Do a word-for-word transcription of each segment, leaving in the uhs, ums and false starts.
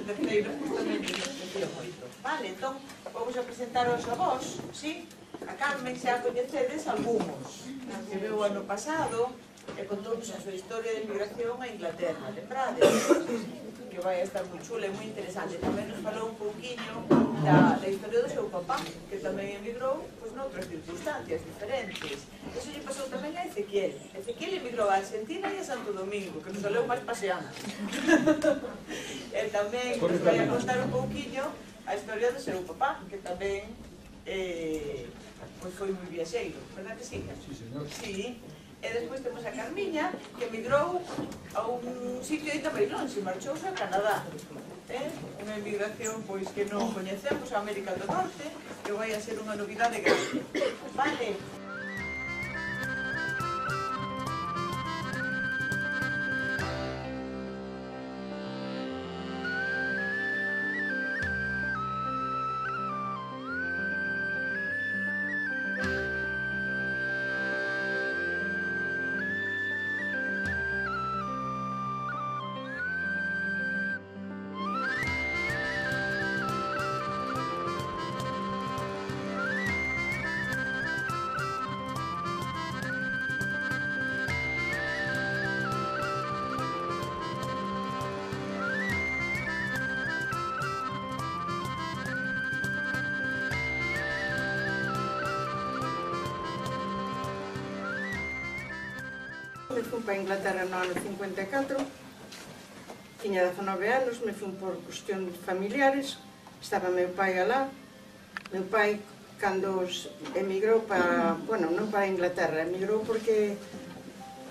terceiro justamente nos sentido moito. Vale, entón, vamos a presentaros a vos, sí? A Carmen xa coñecedes algúns, que veu ano pasado e contounos a súa historia de migración a Inglaterra, lembrades? Que vai a estar moi chula e moi interesante. Tamén nos falou un pouquiño da, da historia do seu papá, que tamén emigrou pois, noutras circunstancias diferentes. Eso lle pasou tamén a Ezequiel. Ezequiel emigrou a Argentina e a Santo Domingo, que nos saleu máis paseando. E tamén nos vai a contar un pouquiño a historia do seu papá, que tamén eh, pois foi moi viaxeiro, verdad que sí? Sí, señor. Sí. E despois temos a Carmiña, que emigrou a un sitio ainda máis longe, marchouse a Canadá. Eh? Unha emigración pois que non coñecemos, a América do Norte, que vai a ser unha novidade grande. Vale. Me fui para Inglaterra no ano cincuenta e catro, tiña dezanove anos, me fui por cuestión familiares, estaba meu pai alá. Meu pai, cando emigrou para, bueno, non para Inglaterra, emigrou porque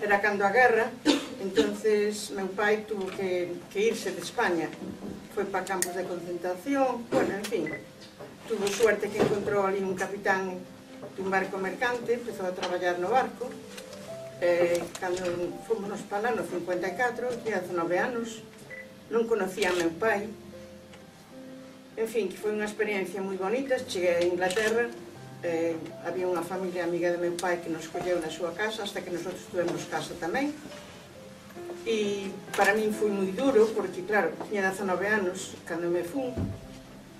era cando a guerra, entonces meu pai tuvo que, que irse de España, foi para campos de concentración, bueno, en fin, tuvo suerte que encontrou ali un capitán dun barco mercante, empezou a traballar no barco. Eh, cando fomos para lá no cincuenta e catro, tinha dezanove anos, non conocía a meu pai. En fin, que foi unha experiencia moi bonita. Cheguei a Inglaterra, eh, había unha familia amiga de meu pai que nos colleu na súa casa, hasta que nosotros tuvemos casa tamén. E para min foi moi duro, porque claro, tinha dezanove anos cando me fui,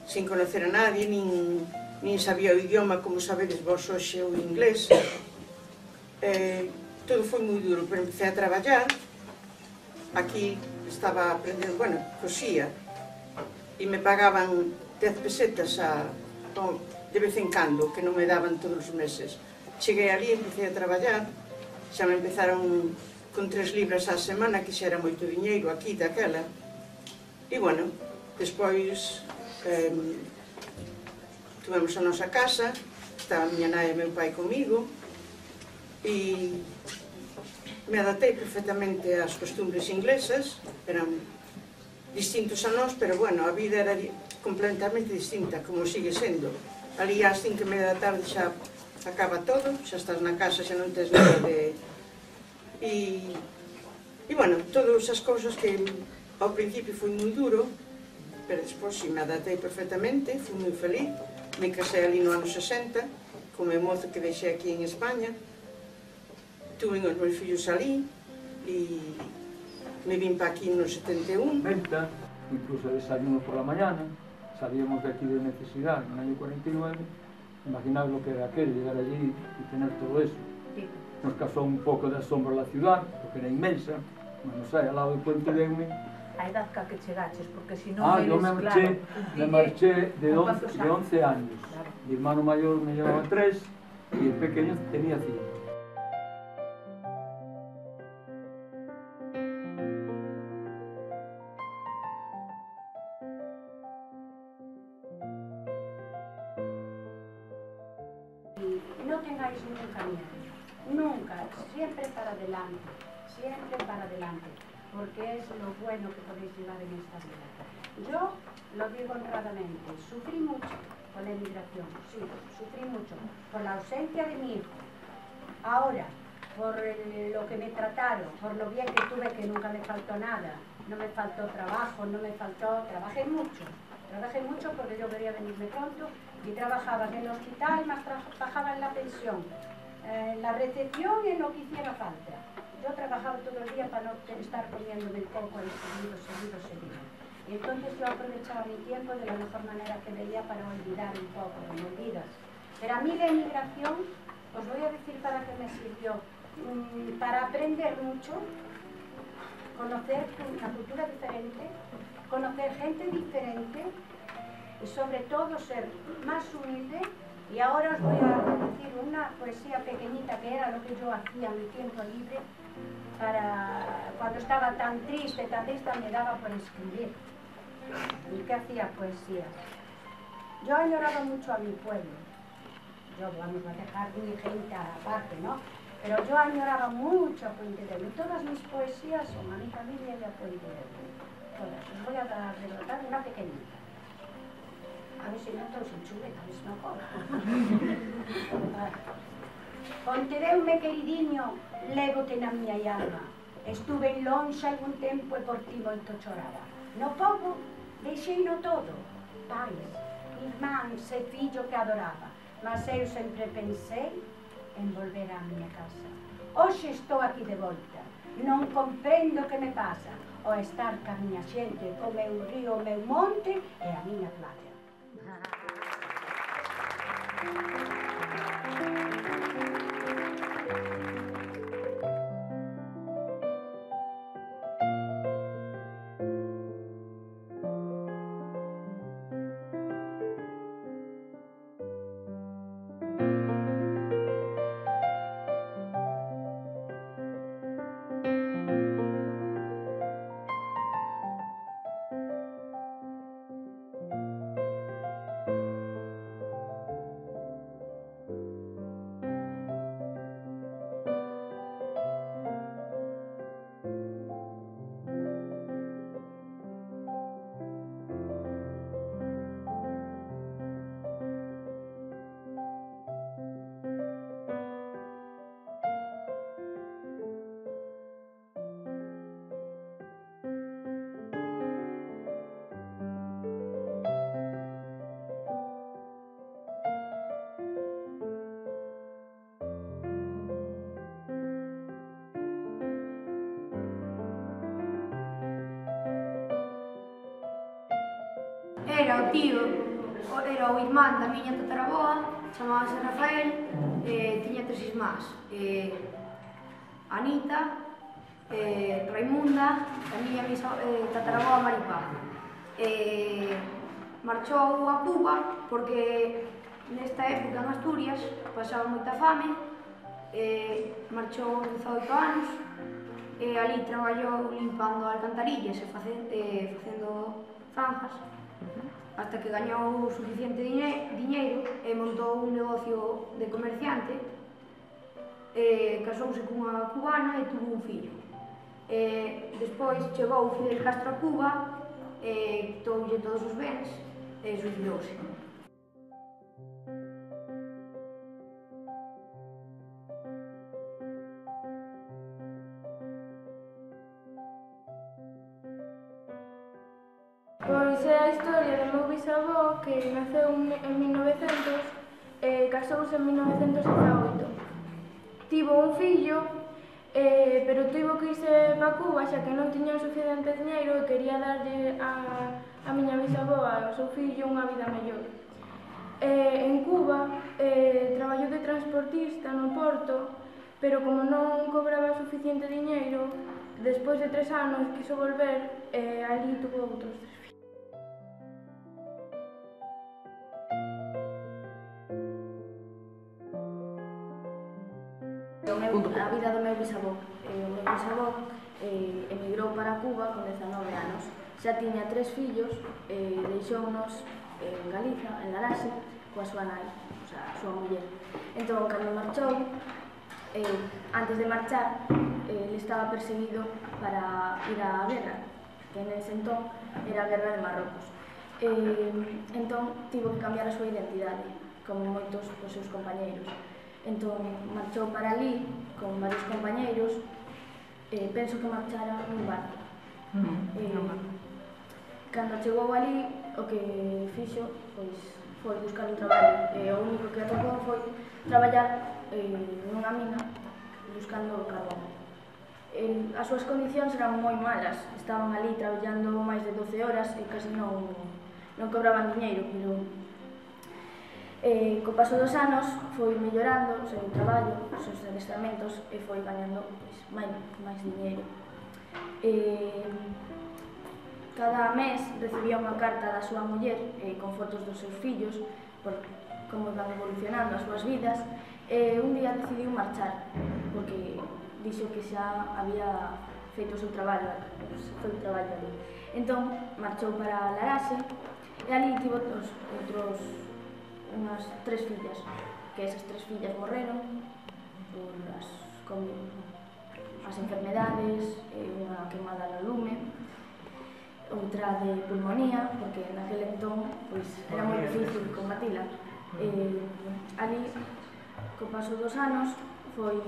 sin conocer a nadie, nin, nin sabía o idioma como sabedes vos hoxe o inglés. Eh, todo foi moi duro, pero empecé a traballar. Aquí estaba aprendendo, bueno, cosía, e me pagaban dez pesetas a, de vez en cando, que non me daban todos os meses. Cheguei ali, empecé a traballar, xa me empezaron con tres libras á semana, que xa era moito diñeiro aquí, daquela. E, bueno, despois eh, tuvemos a nosa casa, estaba a miña nai e meu pai comigo, e me adaptei perfectamente ás costumbres inglesas, eran distintos a nós, pero bueno, a vida era completamente distinta, como sigue sendo. Ali ás cinco e media da tarde xa acaba todo, xa estás na casa, xa non tens nada de... E, e bueno, todas as cousas que ao principio foi moi duro, pero despois si me adaptei perfectamente, fui moi feliz. Me casei ali no ano sesenta, con o mozo que deixei aquí en España. Tuve os meus fillos ali e me vim para aquí no setenta e un. Venta, incluso desayuno por la mañana, salíamos de aquí de necesidad en el año cuarenta y nueve, imaginad lo que era aquel, llegar allí y tener todo eso. Nos causó un poco de asombro la ciudad, porque era inmensa, no sé, al lado del puente de Eume. A edad ca que chegaches, porque si non Ah, eres, yo me marché, claro, me marché de once, ¿cuántos de once años. Claro. Mi hermano mayor me llevaba tres y el pequeño tenía cinco. No tengáis nunca miedo, nunca, siempre para adelante, siempre para adelante, porque es lo bueno que podéis llevar en esta vida. Yo lo digo honradamente, sufrí mucho con la emigración, sí, sufrí mucho, por la ausencia de mi hijo. Ahora, por el, lo que me trataron, por lo bien que tuve, que nunca me faltó nada, no me faltó trabajo, no me faltó, trabajé mucho. Trabajé mucho porque yo quería venirme pronto y trabajaba en el hospital, más trabajaba en la pensión, en la recepción y en lo que hiciera falta. Yo trabajaba todo el día para no estar comiéndome el coco ahí seguido, seguido, seguido. Y entonces yo aprovechaba mi tiempo de la mejor manera que veía para olvidar un poco, me olvidas. Pero a mí la emigración, os voy a decir para qué me sirvió. Mm, para aprender mucho, conocer una cultura diferente, conocer gente diferente y sobre todo ser más humilde. Y ahora os voy a decir una poesía pequeñita que era lo que yo hacía en mi tiempo libre para cuando estaba tan triste, tan triste, me daba por escribir. ¿Y qué hacía? Poesía. Yo añoraba mucho a mi pueblo. Yo, vamos a dejar mi gente aparte, ¿no? Pero yo añoraba mucho a Puente de Luz. Todas mis poesías son a mi familia y a Puente de Luz. Todas. Os voy a dar, relatar una pequeñita. A ver si no estou sin chuleta, a ver se me acordo. Pontedeume, queridinho, lévote na miña alma. Estuve en lonxe algún tempo e por ti moito choraba. No pobo, deixeino todo. Pais, irmáns e fillo que adoraba. Mas eu sempre pensei en volver á miña casa. Hoxe estou aquí de volta. Non comprendo o que me pasa. O estar ca miña xente, co meu río, o meu monte e a miña playa. Era o tío, era o irmán da miña tataraboa, chamábase Rafael, e tiña tres irmás, eh, Anita, eh, Raimunda, a miña misa, eh, tataraboa Maripá. Eh, marchou a Cuba porque nesta época en Asturias pasaba moita fame, eh, marchou dezaoito anos, e ali traballou limpando alcantarillas e facendo, eh, facendo zanjas, hasta que gañou suficiente diñeiro e montou un negocio de comerciante, e casouse cunha cubana e tuvo un fillo. E despois chegou Fidel Castro a Cuba e quitoulle todos os bens e suicidouse. Pois é a historia do meu bisavó que naceu en mil novecentos e casouse en mil novecentos dezaoito. Tivo un fillo, eh, pero tivo que irse para Cuba xa que non tiña o suficiente diñeiro e quería darlle a, a miña bisavoa e ao seu fillo unha vida mellor. Eh, en Cuba eh, traballou de transportista no porto, pero como non cobraba suficiente diñeiro, despois de tres anos quiso volver e eh, ali tuvo outros tres fillos. A vida do meu bisavó. O meu bisavó eh, emigrou para Cuba con dezanove anos. Xa tiña tres fillos e deixounos en Galiza, en Laraxe, coa súa nai, o sea, a súa muller. Entón, cando marchou, eh, antes de marchar, eh, ele estaba perseguido para ir á guerra, que nese entón era a guerra de Marrocos. Eh, entón, tivo que cambiar a súa identidade, como moitos dos seus compañeiros. Entón, marchou para ali con varios compañeiros, eh, penso que marchara nun barco. Mm, eh, no cando chegou ali, o que fixo, pois, foi buscar un traballo. E o único que atopou foi traballar eh, nunha mina buscando carbón. El, as súas condicións eran moi malas, estaban ali traballando máis de doce horas e casi non, non cobraban diñeiro, pero eh, co paso dos anos foi mellorando o seu traballo, os seus adestramentos e foi gañando pois, máis, máis diñeiro. Eh, cada mes recibía unha carta da súa muller eh, con fotos dos seus fillos, por como van evolucionando as súas vidas, e un día decidiu marchar, porque dixo que xa había feito o seu traballo, o seu traballo ali. Entón, marchou para Laraxe e ali tivo outros, outros, unhas tres fillas, que esas tres fillas morreron por as, con, as enfermedades, unha queimada no lume, outra de pulmonía, porque naquele entón pois, era moi difícil combatila. Eh, ali, co paso dos anos, foi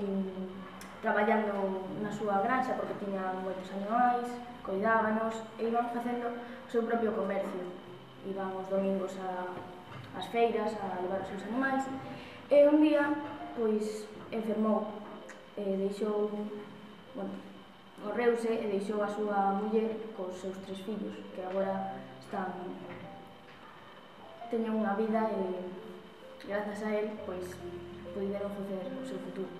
traballando na súa granxa porque tiña moitos animais, coidábanos e iban facendo o seu propio comercio. Iban os domingos a, ás feiras a levar os seus animais e un día pois enfermou e deixou, bueno, morreuse e deixou a súa muller cos seus tres fillos que agora están teñen unha vida e grazas a él pois puderon facer o seu futuro.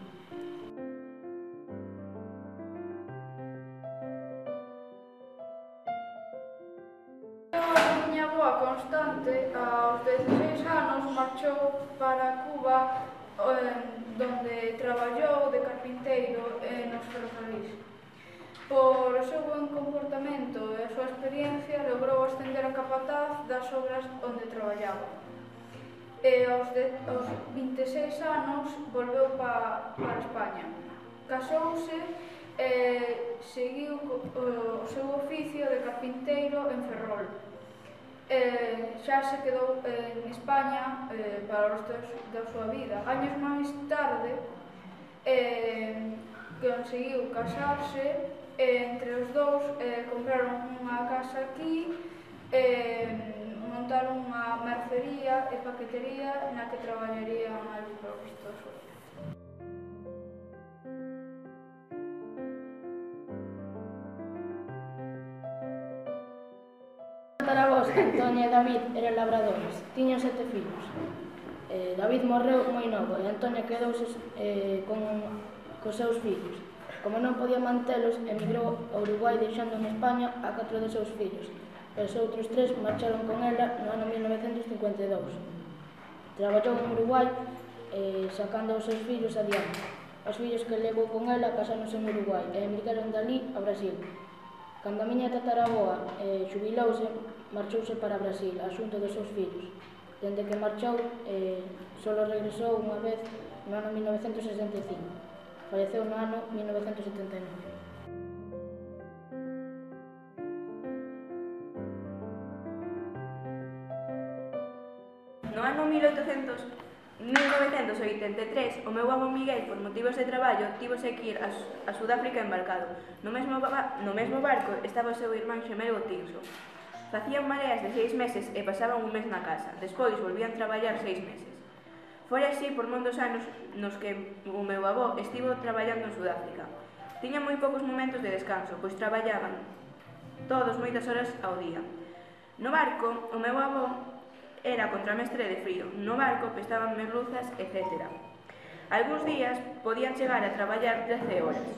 Constante, aos dieciséis anos, marchou para Cuba, donde traballou de carpinteiro nos ferrocarrís. Por o seu bon comportamento e a súa experiencia, logrou ascender a capataz das obras onde traballaba. E aos, de, aos vinte e seis anos volveu pa, para España. Casouse e seguiu o, o seu oficio de carpinteiro en Ferrol. Eh, xa se quedou eh, en España eh, para o resto da súa vida. Años máis tarde eh, conseguiu casarse e entre os dous eh, compraron unha casa aquí, eh, montaron unha mercería e paquetería na que traballarían máis para o resto da súa vida. Tatarabós, Antonia e David eran labradores, tiñan sete fillos. Eh, David morreu moi novo e Antonia quedouse eh, con, cos seus fillos. Como non podía mantelos, emigrou a Uruguai deixando en España a catro dos seus fillos. E os outros tres marcharon con ela no ano mil novecentos cincuenta e dous. Traballou en Uruguai eh, sacando os seus fillos adiante. Os fillos que levou con ela casáronse en Uruguai e emigraron dali a Brasil. Cando a miña tataraboa eh, xubilouse, marchouse para Brasil, asunto dos seus fillos. Dende que marchou, eh, solo regresou unha vez no ano mil novecentos sesenta e cinco. Falleceu no ano mil novecentos setenta e nove. No ano mil novecentos oitenta e tres, o meu avó Miguel, por motivos de traballo, tivose que ir a, a Sudáfrica embarcado. No mesmo, no mesmo barco estaba o seu irmán xemelo Tirso. Facían mareas de seis meses e pasaban un mes na casa. Despois volvían traballar seis meses. Foi así por mondos anos nos que o meu avó estivo traballando en Sudáfrica. Tiña moi poucos momentos de descanso, pois traballaban todos moitas horas ao día. No barco, o meu avó era contramestre de frío. No barco pestaban merluzas, etcétera. Algúns días podían chegar a traballar trece horas.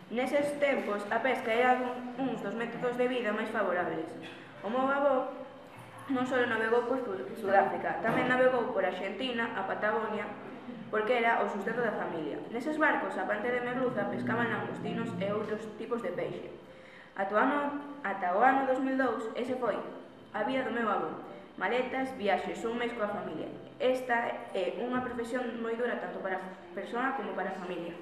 Neses tempos, a pesca era uns dos métodos de vida máis favorables. O meu avó non só navegou por Sudáfrica, tamén navegou por Argentina, a Patagonia, porque era o sustento da familia. Neses barcos, aparte de merluza, pescaban langostinos e outros tipos de peixe. Ata o ano, ata o ano dos mil dous, ese foi a vida do meu avó. Maletas, viaxes, un mes coa familia. Esta é unha profesión moi dura tanto para a persoa como para a familia.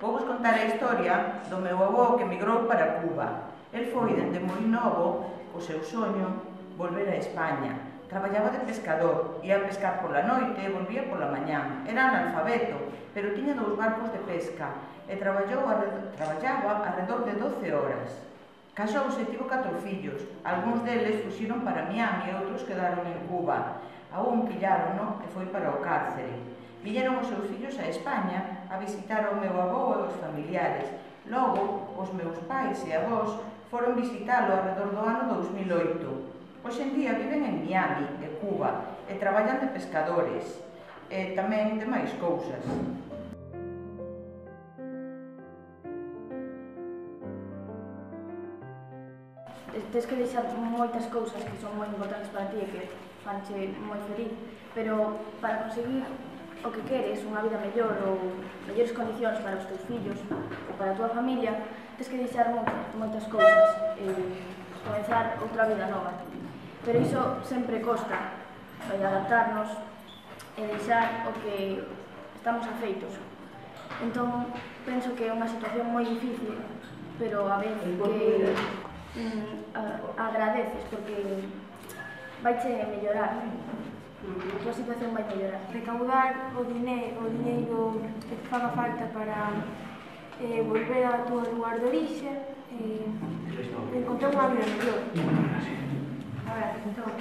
Vou vos contar a historia do meu avó que emigrou para Cuba. El foi dende moi novo o seu soño volver a España. Traballaba de pescador, ia a pescar pola noite e volvía pola mañá. Era analfabeto, pero tiña dous barcos de pesca e traballou arredor, traballaba arredor de doce horas. Casouse e tivo catro fillos. Algúns deles fuxiron para Miami e outros quedaron en Cuba. A un pillaron e foi para o cárcere. Viñeron os seus fillos a España a visitar o meu avó e os familiares. Logo, os meus pais e avós foron visitalo alrededor do ano dous mil e oito. Hoxe en día viven en Miami e Cuba e traballan de pescadores e tamén de máis cousas. Tens que deixar moitas cousas que son moi importantes para ti e que fanche moi feliz, pero para conseguir o que queres, unha vida mellor ou mellores condicións para os teus fillos ou para a tua familia, tens que deixar moitas cousas e comenzar outra vida nova. Pero iso sempre costa, vai adaptarnos e deixar o que estamos afeitos. Entón, penso que é unha situación moi difícil, pero a vez que mm, a, agradeces porque vaiche mellorar, a tua situación vai mellorar. Recaudar o dineiro, o dineiro que te faga falta para eh, volver ao teu lugar de orixe e eh, encontrar unha vida mellor. A ver, entón...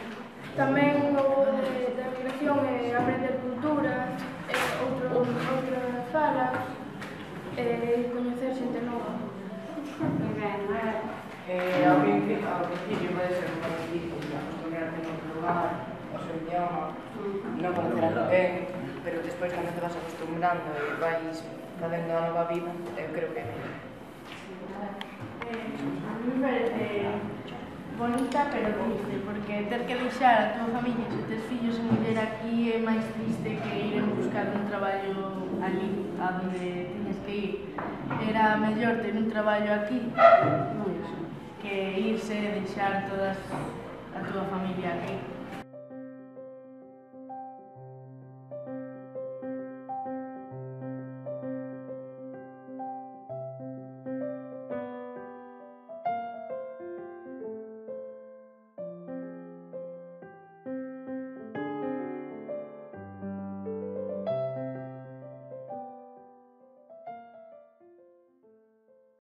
Tamén o de, da migración é aprender culturas, eh, outro, outras falas, e eh, coñecer xente nova. Moi ben, a ver. Eh, ao principio, ao principio pode ser moi difícil acostumbrarte en outro lugar, o seu idioma, non conocer a ninguén, pero despois cando te vas acostumbrando e vais facendo a nova vida, eu creo que é mellor. Eh, a mí me parece bonita pero triste, porque ter que deixar a tua familia e os teus fillos en viver aquí é máis triste que ir en buscar un traballo ali, a donde tiñes que ir. Era mellor ter un traballo aquí que irse e deixar toda a tua familia aquí.